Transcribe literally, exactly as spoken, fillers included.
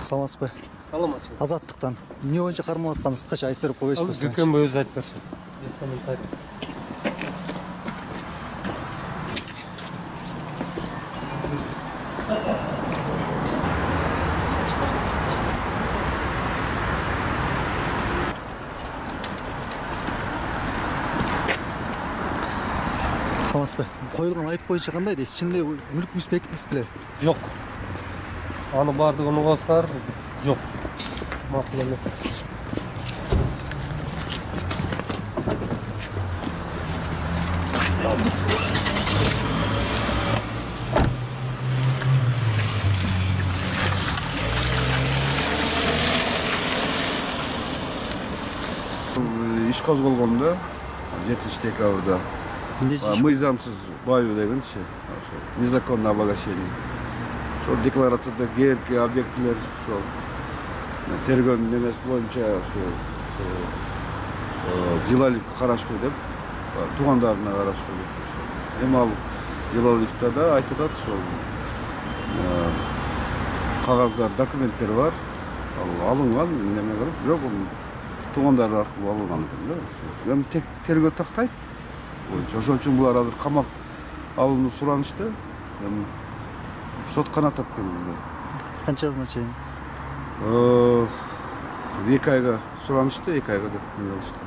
Саламатсызбы? Саламатчы. Азаттыктан эмне боюнча кармалып атканыңызды кыскача айтып берип койбойсузбу? Дүкөнбай өзү айтып берсин. Без комментариев. Саламатсызбы? Коюлган айып боюнча кандай дейсиз? Чынында мүлкүңүз бекитилип беле? Жок. Аны бардыгын угасыздар. Жок. Макул эмес. Иш козголгондо жетинчи декабрда мыйзамсыз баю дегенчи, незаконное обогащение. Ошол декларацияда кээерки объектилер ошол тергөөнүн немеси боюнча ошо Зилаливке караштуу деп, туугандарына караштуу деп. Эми ал Зилаливда да айтып атат, ошол кагаздар, документтер бар. Ал алынган, неме кылып, бирок туугандар аркылуу алынган экен да. Эми тергөө тактайт. Ошон үчүн булар азыр камак алууну суранышты. Эми сот канатат дегенде. Канчасына чейин? эки айга суранышты, эки айга деп эмне кылышты.